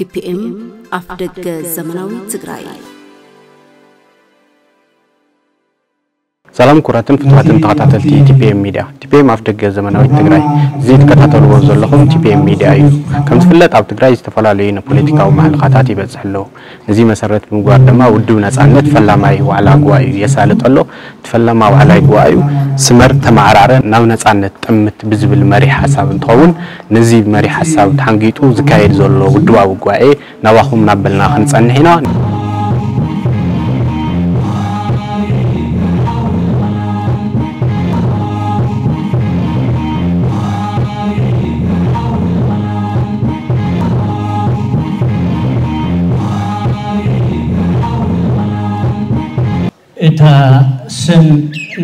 ቲ ፒ ኤም ኣፍ ደገ ዘመናዊ ትግራይ። ሰላም ክቡራትን ፍቱዋትን ተኸታተልቲ ቲ ፒ ኤም ሚድያ። ቲ ፒ ኤም ኣፍ ደገ ዘመናዊት ትግራይ። እዚ ትከታተልዎ ዘለኹም ቲ ፒ ኤም ሚድያ እዩ። ከም ዝፍለጥ ኣብ ትግራይ ዝተፈላለዩ ናይ ፖለቲካዊ ማሕለኻታት ይበፅሕ ኣለዉ። ነዚ መሰረት ብምግባር ድማ ውድብ ነፃነት ፈላማይ ዋዕላ ጉባኤኡ የሳልጥ ኣሎ። እቲ ፈላማ ዋዕላ ጉባኤኡ ስመር ተመዓራረ ናብ ነፃነት ጠምት ብዝብል መሪሕ ሓሳብ እንትኸውን፣ ነዚ መሪሕ ሓሳብ ተሓንጊጡ ዝካየድ ዘሎ ውድባዊ ጉባኤ ናባኹም እናበልና ክንጸንሕ ኢና። እታ ስም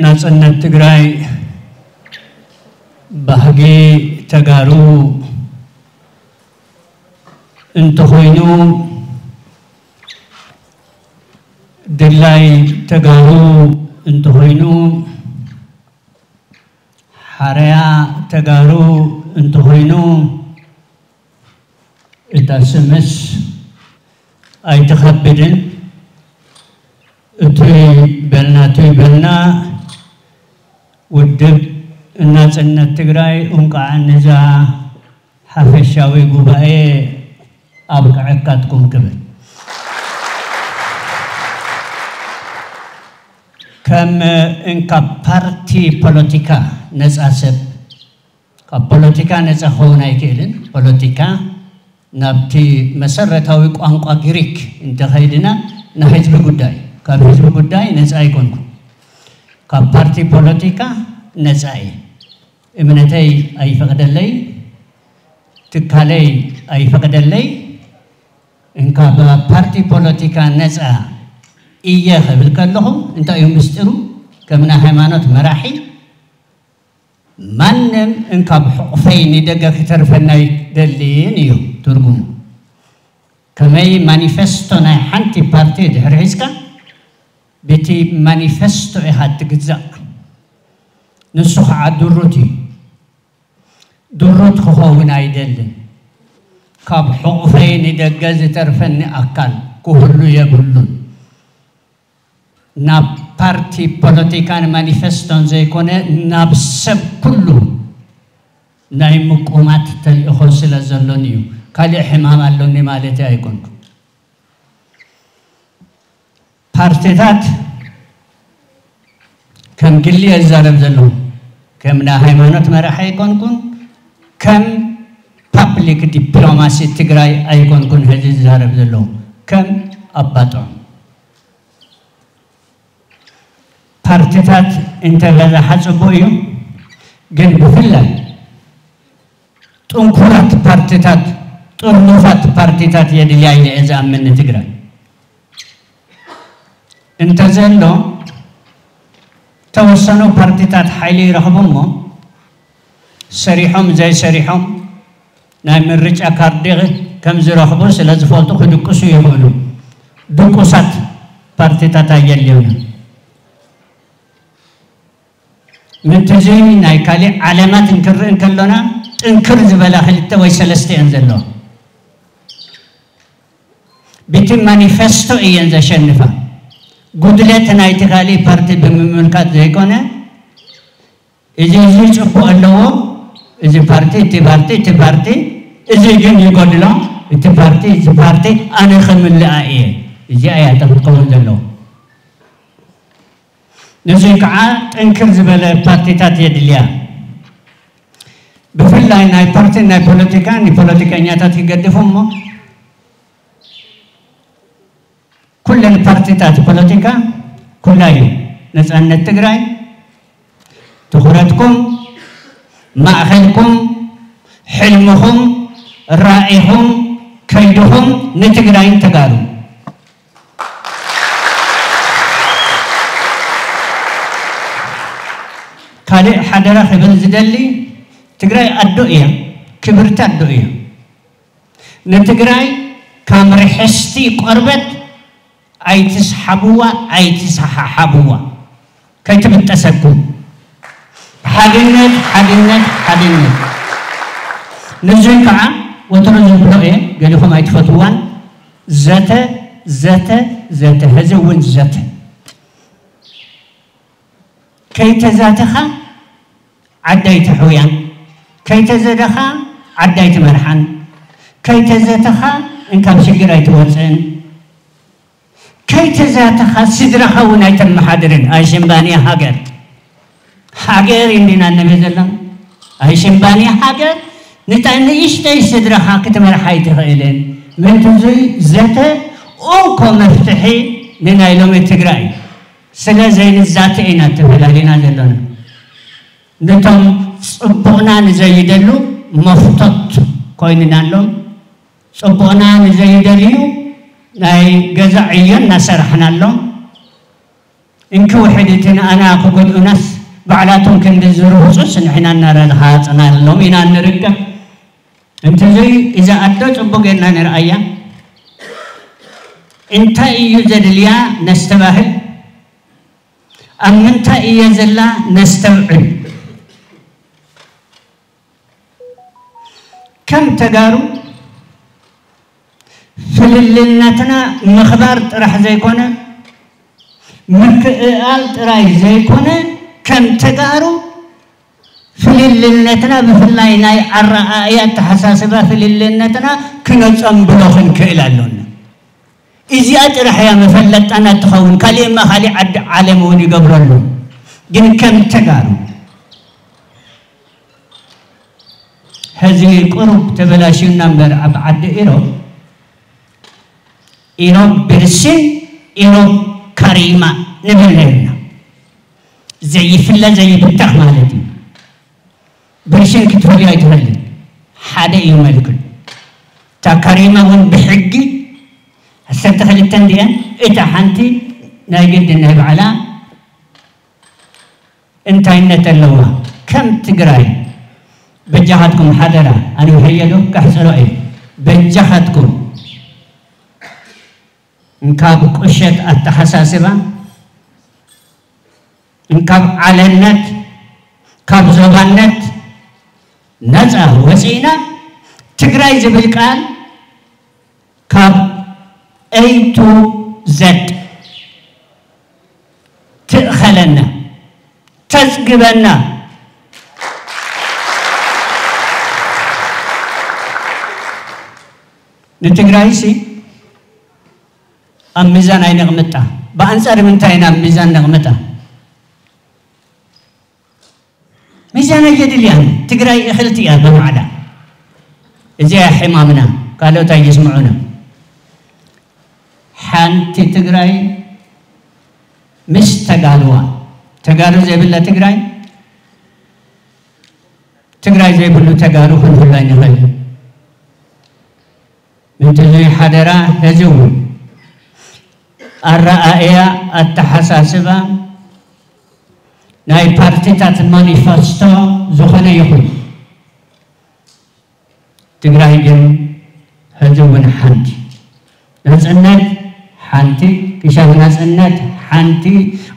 ናጽነት ትግራይ ባህጊ ተጋሩ እንተኾይኑ፣ ድላይ ተጋሩ እንተኾይኑ፣ ሓረያ ተጋሩ እንተኾይኑ፣ እታ ስምስ ኣይትኸብድን። እቲ በልና እቲ በልና ውድብ ናጽነት ትግራይ እንቋዕ ንዛ ሓፈሻዊ ጉባኤ ኣብቅዐካትኩም ክብል። ከም እንካ ፓርቲ ፖለቲካ ነፃ ሰብ፣ ካብ ፖለቲካ ነፃ ክኸውን ኣይክእልን። ፖለቲካ ናብቲ መሰረታዊ ቋንቋ ግሪክ እንተኸይድና፣ ናይ ህዝቢ ጉዳይ፣ ካብ ህዝቢ ጉዳይ ነፃ ኣይኮንኩን። ካብ ፓርቲ ፖለቲካ ነፃ እየ። እምነተይ ኣይፈቕደለይ፣ ትካለይ ኣይፈቕደለይ። እንካ ብ ፓርቲ ፖለቲካ ነፃ እየ ክብል ከለኹ እንታይ እዩ ምስጢሩ? ከም ናይ ሃይማኖት መራሒ ማንም እንካ ብሕቑፈይ ንደገ ክተርፈኒ ኣይደልን እዩ ትርጉሙ። ከመይ ማኒፌስቶ ናይ ሓንቲ ፓርቲ ድሕሪ ሒዝካ ብቲ ማኒፌስቶ ኢኻ ትግዛእ። ንሱ ከዓ ድሩት እዩ። ድሩት ክኸውን ኣይደልን። ካብ ሕቑፈይ ንደገ ዝተርፈኒ ኣካል ክህሉ የብሉን። ናብ ፓርቲ ፖለቲካን ማኒፌስቶን ዘይኮነ ናብ ሰብ ኩሉ ናይ ምቁማት ተልእኾ ስለ ዘሎኒ እዩ። ካሊእ ሕማም ኣሎኒ ማለት ኣይኮንኩ። ፓርቲታት ከም ግሊ እየ ዝዛረብ ዘለኹ። ከም ናይ ሃይማኖት መራሒ ኣይኮንኩን፣ ከም ፓብሊክ ዲፕሎማሲ ትግራይ ኣይኮንኩን ሕዚ ዝዛረብ ዘለኹ፣ ከም ኣባጦም። ፓርቲታት እንተበዛሓ ጽቡቕ እዩ፣ ግን ብፍላይ ጥንኩራት ፓርቲታት፣ ጥርኑፋት ፓርቲታት የድልያ ኢለ እየ ዝኣምን ንትግራይ። እንተዘሎ ተወሰኑ ፓርቲታት ሓይሊ ይረኽቡ እሞ ሰሪሖም ዘይሰሪሖም ናይ ምርጫ ካርዲ ከም ዝረኽቡ ስለ ዝፈልጡ ክድቅሱ ይኽእሉ። ድቁሳት ፓርቲታት ኣየድልዩና። ምእንቲ እዚ ናይ ካሊእ ዓለማት እንክርኢ እንከሎና ጥንክር ዝበላ ክልተ ወይ ሰለስተ እየን ዘለዋ። ብቲ ማኒፌስቶ እየን ዘሸንፋ። ጉድለት ናይቲ ካሊእ ፓርቲ ብምምልካት ዘይኮነ፣ እዚ፣ እዚ ጽቡቕ ኣለዎ፣ እዚ ፓርቲ፣ እቲ ፓርቲ፣ እቲ ፓርቲ፣ እዚ ግን ይጎድሎ፣ እቲ ፓርቲ፣ እዚ ፓርቲ ኣነ ክምልኣ እየ። እዚኣ እያ እታ ክትከውን ዘለዎ። ነዚ ከዓ ጥንክር ዝበለ ፓርቲታት የድልያ። ብፍላይ ናይ ፓርቲን ናይ ፖለቲካን ንፖለቲከኛታት ይገድፉ እሞ፣ ኩለን ፓርቲታት ፖለቲካ፣ ኩላይ ነፃነት ትግራይ፣ ትኹረትኩም፣ ማእኸልኩም፣ ሕልምኹም፣ ራኢኹም፣ ከይድኹም ንትግራይን ተጋሩ። ካልእ ሓደራ ክብል ዝደሊ፣ ትግራይ ኣዶ እያ፣ ክብርቲ ኣዶ እያ። ንትግራይ ከም ርሕስቲ ቆርበት ኣይትስሓብዋ፣ ኣይትሰሓሓብዋ፣ ከይትብጠሰኩም። ሓድነት፣ ሓድነት፣ ሓድነት። ንዙይ ከዓ ወትሩ ዝብሎ እየ፣ ገሊኹም ኣይትፈትዋን። ዘተ፣ ዘተ፣ ዘተ፣ ሕዚ እውን ዘተ። ከይተዛተኻ ዓዲ ኣይትሕውያን፣ ከይተዘተኻ ዓዲ ኣይትመርሓን፣ ከይተዘተኻ እንካብ ሽግር ኣይትወፅእን። ከይተዛተኻ ስድራኻ እውን ኣይተመሓድርን። ኣይሽምባንያ ሃገር፣ ሃገር እንዲና ንብል ዘለና። ኣይሽምባንያ ሃገር፣ ንታ ንእሽተይ ስድራኻ ክትመርሓ ኣይትኽእልን። ምንትዙይ ዘተ እንኮ መፍትሒ ንናይ ሎሚ ትግራይ። ስለ ዘይንዛተ ኢና ተፈላሊና ዘለና። ነቶም ጽቡቕና ንዘይደሉ መፍቶት ኮይንናሎም፣ ጽቡቕና ንዘይደልዩ ናይ ገዛ ዕዮ እናሰራሕናሎም፣ እንኪ ውሕድ እቲ ንኣና ክጎድኡናስ ባዕላቶም ክንዲ ዝርህጹስ ንሕና እናረሃጽናሎም ኢና ንርከብ። እንተዘይ እዛ ኣዶ ጽቡቕ ጌርና ንርኣያ። እንታይ እዩ ዘድልያ ነስተባህል፣ ኣብ ምንታይ እየ ዘላ ነስተውዕል። ከም ተጋሩ ፍልልነትና ምኽባር ጥራሕ ዘይኮነ፣ ምክእኣል ጥራይ ዘይኮነ፣ ከም ተጋሩ ፍልልነትና፣ ብፍላይ ናይ ኣረኣእያ ኣተሓሳስባ ፍልልነትና ክነጸንብሎ ክንክእል ኣሎና። እዚኣ ጥራሕ እያ መፈለጣና ትኸውን። ካሊእማ ካሊእ ዓዲ ዓለም እውን ይገብረሉ። ግን ከም ተጋሩ፣ ሕዚ ቁሩብ ተበላሽዩና እምበር፣ ኣብ ዓዲ ኢሮብ፣ ኢሮብ ብርሽን፣ ኢሮብ ካሪማ ንብል ነርና። ዘይፍለ ዘይብተኽ ማለት እዩ። ብርሽን ክትፈልዮ ኣይትኽእልን። ሓደ እዩ መልክዑ። እታ ካሪማ እውን ብሕጊ ዓሰርተ ክልተ እንድየን፣ እታ ሓንቲ ናይ ግድን ናይ ባዕላ እንታይነት ኣለዋ። ከም ትግራይ በጃኻትኩም ሓደራ፣ ኣነ ውሕየሉ ከሕፅሮ እየ። በጃኻትኩም እንካብ ቁሸት ኣተሓሳስባ፣ እንካብ ዓለነት፣ ካብ ዞባነት ነፃ ወፂእና፣ ትግራይ ዝብል ቃል ካብ A to Z ትእኸለና፣ ተፅግበና። ንትግራይሲ ኣብ ሚዛን ኣይነቕምጣ። ብኣንፃር ምንታይ ኢና ኣብ ሚዛን ነቕምጣ? ሚዛን ኣየድልያን። ትግራይ እኽልቲ እያ ብባዕላ። እዚኣ ሕማምና፣ ካልኦት ኣይስምዑና። ሓንቲ ትግራይ ምስ ተጋሩዋ፣ ተጋሩ ዘይብላ ትግራይ፣ ትግራይ ዘይብሉ ተጋሩ ክንህሉ ኣይንኽእልን። ምንትዙይ ሓደራ፣ ሕዚ እውን ኣረኣእያ፣ ኣተሓሳስባ፣ ናይ ፓርቲታት ማኒፈስቶ ዝኾነ ይኹን፣ ትግራይ ግን ሕዚ እውን ሓንቲ። ናፅነት ሓንቲ፣ ክሻብ ናፅነት ሓንቲ፣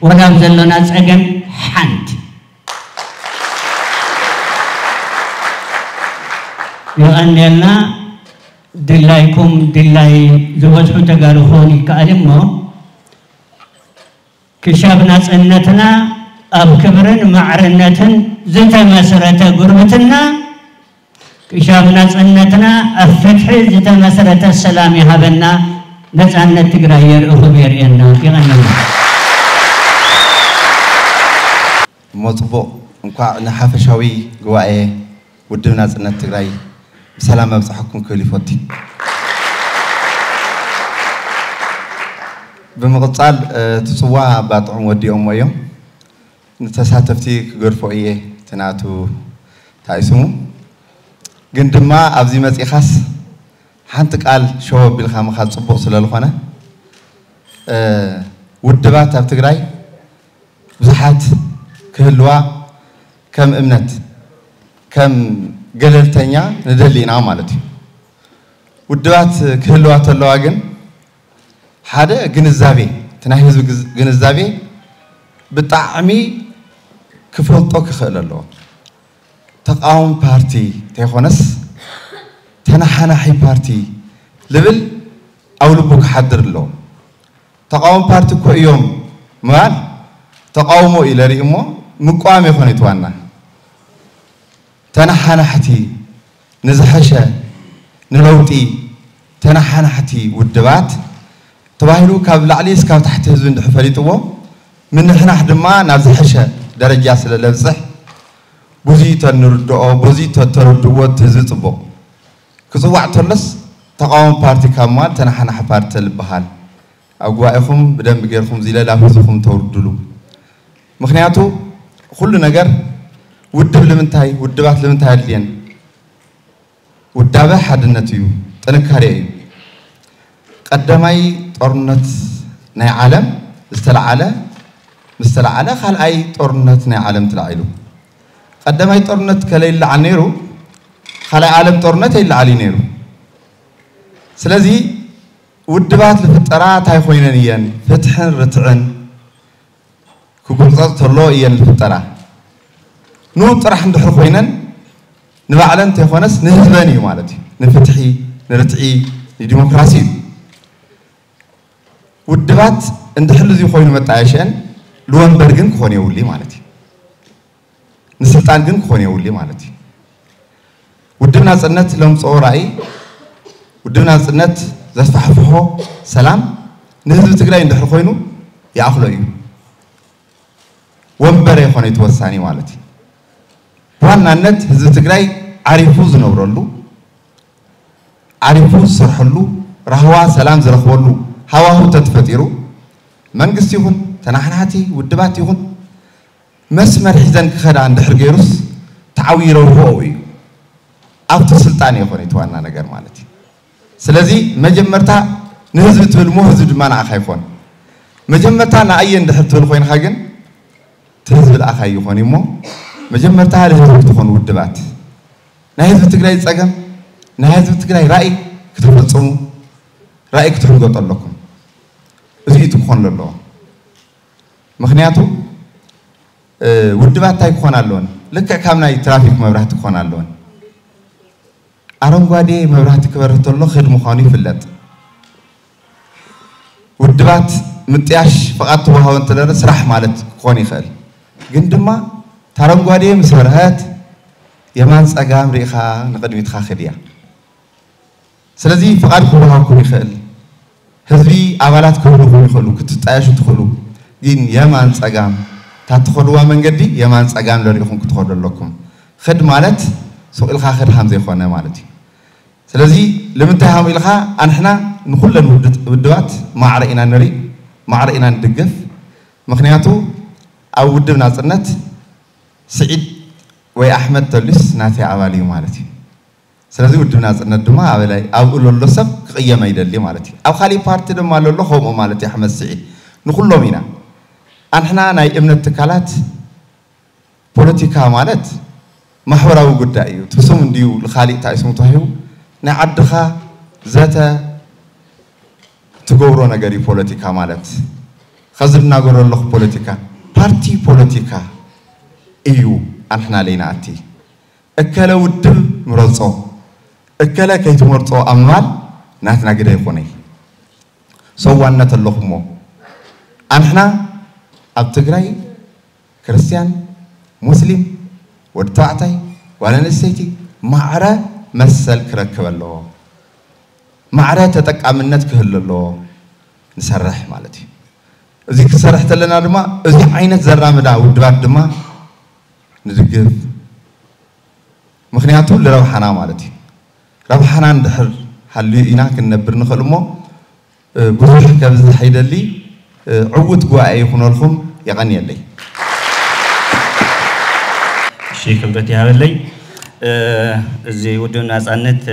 ወላ ኣብ ዘሎና ፀገም ሓንቲ። የቐንየልና። ድላይኩም ድላይ ዝበዝሑ ተጋሩ ክኾን ይከኣል እሞ፣ ክሻብ ናፅነትና ኣብ ክብርን ማዕርነትን ዝተመስረተ ጉርብትና፣ ክሻብ ናፅነትና ኣብ ፍትሒ ዝተመስረተ ሰላም ይሃበና። ነፃነት ትግራይ የርኢ፣ ክብ የርእየና። ይቐንየልና። እሞ ጽቡቕ፣ እንኳዕ ንሓፈሻዊ ጉባኤ ውድብ ናጽነት ትግራይ ብሰላም ኣብጽሓኩም ክብል ይፈቱ። ብምቕጻል፣ እ፣ እቲ ጽዋ ኣባ ጥዑም ወዲኦሞ እዮም። ንተሳተፍቲ ክገድፎ እየ፣ እቲ ናቱ እንታይ ስሙ። ግን ድማ ኣብዚ መጺኻስ ሓንቲ ቃል ሸው ኣቢልካ ምኻድ ጽቡቕ ስለ ዝኾነ፣ እ፣ ውድባት ኣብ ትግራይ ብዙሓት ክህልዋ ከም እምነት፣ ከም ገለልተኛ ንደሊ ኢና ማለት እዩ። ውድባት ክህልዋ ተለዋ ግን ሓደ ግንዛቤ፣ እቲ ናይ ህዝቢ ግዝ-፣ ግንዛቤ ብጣዕሚ ክፈልጦ ክኽእል ኣለዎ። ተቃዋሚ ፓርቲ እንተይኮነስ፣ እቲ ተነሓናሒ ፓርቲ ልብል ኣብ ልቡ ክሓድር ኣለዎ። ተቃወም ፓርቲ እኮ እዮም ምባል ተቃውሞ እዩ ለርኢ እሞ ምቋም የኾነ እቲ ዋና። ተነሓናሕቲ ንዝሐሸ ንለውጢ ተነሓናሕቲ ውድባት ተባሂሉ ካብ ላዕሊ እስካብ ታሕቲ ህዝቢ እንድሕር ፈሊጥዎ ምንሕናሕ ድማ ናብ ዝሐሸ ደረጃ ስለ ለብፅሕ ብዙይ ተንርድኦ ብዙይ ተተረድእዎ እቲ ህዝቢ ፅቡቕ ክፅዋዕ ተሎስ ተቃወሚ ፓርቲ ካብ ምባል ተነሓናሒ ፓርቲ ተልበሃል ኣብ ጉባኤኹም ብደንብ ጌርኩም ዚለ ላብ ህዝብኹም ተውርድሉ። ምክንያቱ ኩሉ ነገር ውድብ ልምንታይ ውድባት ልምንታይ ኣድልየን? ውዳበ ሓድነት እዩ፣ ጥንካሬ እዩ። ቀዳማይ ጦርነት ናይ ዓለም ዝተለዓለ ምስ ተለዓለ ካልኣይ ጦርነት ናይ ዓለም ተላዒሉ። ቀዳማይ ጦርነት ከለይለዓል ነይሩ ካልኣይ ዓለም ጦርነት ኣይለዓል እዩ ነይሩ። ስለዚ ውድባት ዝፍጠራ እንታይ ኮይነን እየን? ፍትሕን ርትዕን ክጉርፀፅ ተሎ እየን ዝፍጠራ። ንኡ ጥራሕ እንድሕር ኮይነን ንባዕለን እንተይኮነስ ንህዝበን እዩ ማለት እዩ። ንፍትሒ፣ ንርትዒ፣ ንዲሞክራሲ እዩ። ውድባት እንድሕር እዚ ኮይኑ መጣየሸን ልወንበር ግን ክኾን የውሊ ማለት እዩ። ንስልጣን ግን ክኾን የውሊ ማለት እዩ። ውድብ ናጽነት ለምጽኦ ራእይ ውድብ ናጽነት ዘስፋሕፍሖ ሰላም ንህዝቢ ትግራይ እንድሕር ኮይኑ ይኣኽሎ እዩ። ወንበር የኾነ ተወሳኒ ማለት እዩ። ብዋናነት ህዝቢ ትግራይ ዓሪፉ ዝነብረሉ ዓሪፉ ዝሰርሐሉ ራህዋ ሰላም ዝረኽበሉ ሃዋሁ ተትፈጢሩ መንግስቲ ይኹን ተናሕናሕቲ ውድባት ይኹን መስመር ሒዘን ክኸዳ እንድሕር ገይሩስ ተዓብዩ ረብሕኡ እዩ። ኣብቲ ስልጣን ይኾን እቲ ዋና ነገር ማለት እዩ። ስለዚ መጀመርታ ንህዝቢ ትብል እሞ ህዝቢ ድማ ንኣኻ ይኾን። መጀመርታ ንኣየ እንድሕር ትብል ኮይንካ ግን እቲ ህዝቢ ልኣኻ ይኾን እሞ መጀመርታ ልህዝቢ ክትኾኑ ውድባት ናይ ህዝቢ ትግራይ ፀገም ናይ ህዝቢ ትግራይ ራእይ ክትፈፅሙ ራእይ ክትሕንገጡ ኣለኩም። እዚ እዩ እቲ ክኾን ዘለዎ። ምክንያቱ ውድባት እንታይ ክኾን ኣለወን? ልክዕ ካብ ናይ ትራፊክ መብራህቲ ክኾን ኣለወን። ኣረንጓዴ መብራህቲ ክበርህ ተሎ ክድ ምዃኑ ይፍለጥ። ውድባት ምጥያሽ ፍቓድ ተዋህቦ እንተለረ ስራሕ ማለት ክኾን ይኽእል። ግን ድማ ታረንጓዴ ምስ በርሀት የማን ፀጋም ርኢኻ ንቕድሚትካ ክድ እያ። ስለዚ ፍቓድ ክወሃብኩም ይኽእል። ህዝቢ ኣባላት ክህልኹም ይኽእሉ፣ ክትጣየሹ ትኽእሉ። ግን የማን ፀጋም እታ ትኸድዋ መንገዲ የማን ፀጋም ለሪእኹም ክትኸዱ ኣለኩም። ኽድ ማለት ሱቕ ኢልካ ኽድ ሃም ዘይኮነ ማለት እዩ። ስለዚ ልምንታይ ሃም ኢልካ ኣንሕና ንኩለን ውድባት ማዕረ ኢና ንርኢ፣ ማዕረ ኢና ንድግፍ። ምክንያቱ ኣብ ውድብ ናፅነት ስዒድ ወይ ኣሕመድ ተሉስ ናተይ ኣባል እዩ ማለት እዩ። ስለዚ ውድብ ናፅነት ድማ ኣበላይ ኣብኡ ለሎ ሰብ ክቕየም ኣይደሊ ማለት እዩ። ኣብ ካሊእ ፓርቲ ድማ ለሎ ከምኡ ማለት እዩ። ኣሕመድ ስዒድ ንኩሎም ኢና ኣንሕና ናይ እምነት ትካላት ፖለቲካ ማለት ማሕበራዊ ጉዳይ እዩ። እቲ ስም እንድዩ ንካሊእ እንታይ ስሙ ተዋሂቡ ናይ ዓድኻ ዘተ ትገብሮ ነገር እዩ ፖለቲካ ማለት። ከዚ እናገሮ ኣለኹ ፖለቲካ ፓርቲ ፖለቲካ እዩ። ኣንሕና ለይና ኣቲ እከለ ውድብ ምረጾ እከለ ከይትመርጾ ኣብ ምባል ናትና ግደ ይኾነይ። ሰዋነት ኣለኹሞ ኣንሕና ኣብ ትግራይ ክርስትያን ሙስሊም ወዲ ተባዕታይ ጓል ኣንስተይቲ ማዕረ መሰል ክረክብ ኣለዎ። ማዕረ ተጠቃምነት ክህሉ ኣለዎ። ንሰርሕ ማለት እዩ። እዚ ክሰርሕ ተለና ድማ እዚ ዓይነት ዘራምዳ ውድባት ድማ ንድግፍ። ምክንያቱ ንረብሓና ማለት እዩ። ረብሓና እንድሕር ሃልዩ ኢና ክንነብር ንኽእል እሞ ብዙሕ ከብዝሕ ይደሊ። ዕውት ጉባኤ ይኹነልኩም። የቐንየለይ። እሺ ክብረት ይሃበለይ። እዚ ውድብ ናፃነት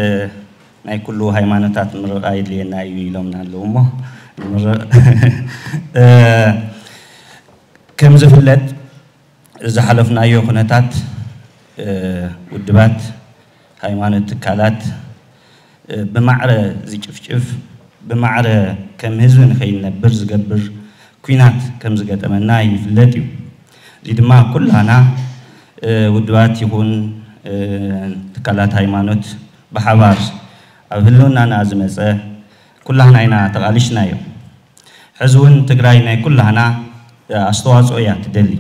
ናይ ኩሉ ሃይማኖታት ምርቓ የድልየና እዩ ኢሎምና ኣለዉ እሞ ንምርቕ። ከም ዝፍለጥ ዝሓለፍናዮ ኩነታት ውድባት ሃይማኖት ትካላት ብማዕረ ዝጭፍጭፍ ብማዕረ ከም ህዝቢ ንኸይንነብር ዝገብር ኲናት ከም ዝገጠመና ይፍለጥ እዩ። እዚ ድማ ኩላና ውድባት ይኹን ትካላት ሃይማኖት ብሓባር ኣብ ህልውናና ዝመፀ ኩላህና ኢና ተቓሊሽናዮ። ሕዚ እውን ትግራይ ናይ ኩላህና ኣስተዋፅኦ እያ ትደሊ።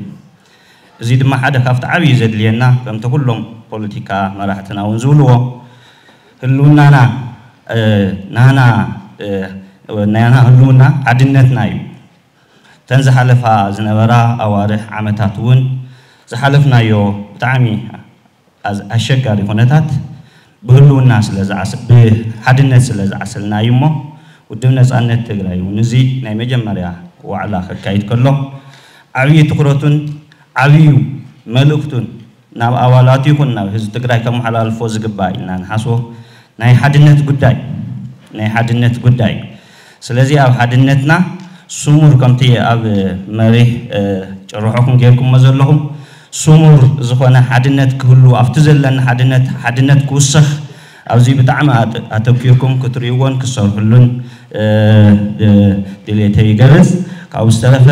እዚ ድማ ሓደ ካብቲ ዓብዪ ዘድልየና ከምቲ ኩሎም ፖለቲካ መራሕትና እውን ዝብልዎ ህልውናና ናና ናና ህልውና ሓድነትና እዩ። እተን ዝሓለፋ ዝነበራ ኣዋርሕ ዓመታት እውን ዝሓለፍናዮ ብጣዕሚ ኣሸጋሪ ኩነታት ብህልውና ስለ ብሓድነት ስለ ዝዓሰልና እዩ እሞ ውድብ ነፃነት ትግራይ እውን እዚ ናይ መጀመርያ ዋዕላ ከካይድ ከሎ ዓብዪ ትኩረቱን ዓብዩ መልእክቱን ናብ ኣባላቱ ይኹን ናብ ህዝቢ ትግራይ ከመሓላልፎ ዝግባእ ኢልና ንሓስቦ ናይ ሓድነት ጉዳይ ናይ ሓድነት ጉዳይ ስለዚ ኣብ ሓድነትና ስሙር ከምቲ ኣብ መሪህ ጭርሖኹም ጌርኩሞ ዘለኹም ስሙር ዝኾነ ሓድነት ክህሉ ኣብቲ ዘለና ሓድነት ሓድነት ክውሰኽ ኣብዚ ብጣዕሚ ኣተኪርኩም ክትርእይዎን ክትሰርሕሉን ድሌተ ይገልፅ። ካብኡ ዝተረፈ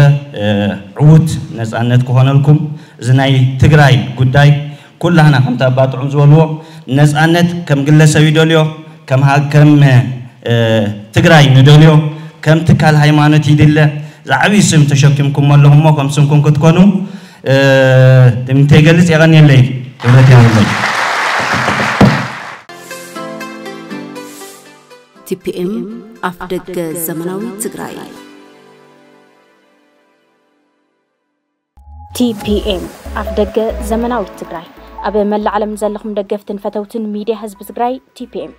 ዕዉት ነፃነት ክኾነልኩም እዚ ናይ ትግራይ ጉዳይ ኩላህና ከምቲ ኣባ ጥዑም ዝበልዎ ነፃነት ከም ግለሰብ ይደልዮ ከም ትግራይ ንደልዮ ከም ትካል ሃይማኖት ይድለ ዝዓብይ ስም ተሸኪምኩም ኣለኹሞ ከም ስምኩም ክትኮኑ ትምኒተይ ገልፅ የቐንየለይ ክብረት የብለይ። ቲፒኤም ኣፍ ደገ ዘመናዊ ትግራይ ቲፒኤም ኣፍ ደገ ዘመናዊት ትግራይ ኣብ መላእ ዓለም ዘለኹም ደገፍትን ፈተውትን ሚድያ ህዝቢ ትግራይ ቲፒኤም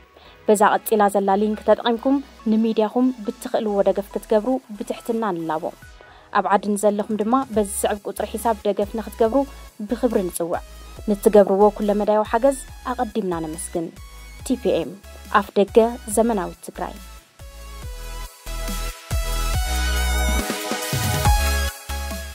በዛ ቀፂላ ዘላ ሊንክ ተጠቒምኩም ንሚድያኹም ብትኽእልዎ ደገፍ ክትገብሩ ብትሕትና ንላቦ። ኣብ ዓዲ ንዘለኹም ድማ በዚ ዝስዕብ ቁፅሪ ሒሳብ ደገፍ ንክትገብሩ ብኽብሪ ንፅውዕ። ንትገብርዎ ኩለመዳያዊ ሓገዝ ኣቐዲምና ነመስግን። ቲፒኤም ኣፍ ደገ ዘመናዊት ትግራይ።